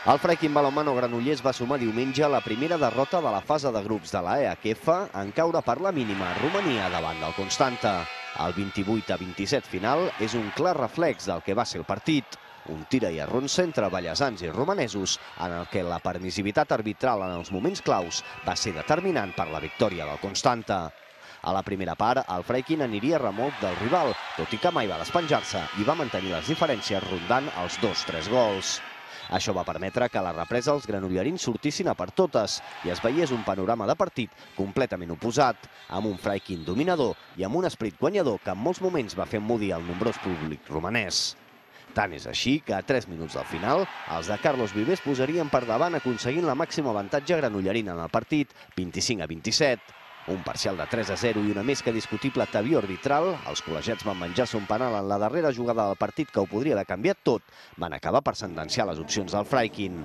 El Freikin Balonmano Granollers va sumar diumenge la primera derrota de la fase de grups de la EHF en caure per la mínima a Romania davant del Constanta. El 28-27 final és un clar reflex del que va ser el partit. Un tira i arronsa entre ballesans i romanesos en el que la permissivitat arbitral en els moments claus va ser determinant per la victòria del Constanta. A la primera part, el Freikin aniria a remolc del rival, tot i que mai va despenjar-se i va mantenir les diferències rondant els 2-3 gols. Això va permetre que a la represa els granollerins sortissin a per totes i es veiés un panorama de partit completament oposat, amb un Freikin dominador i amb un esperit guanyador que en molts moments va fer emmudir el nombrós públic romanès. Tant és així que a 3 minuts del final, els de Carlos Vives posarien per davant aconseguint la màxima avantatge granollerina en el partit, 25-27. Un parcial de 3-0 i una més que discutible tebió arbitral, els col·legiats van menjar-se un penal en la darrera jugada del partit que ho podria haver canviat tot, van acabar per sentenciar les opcions del Freikin.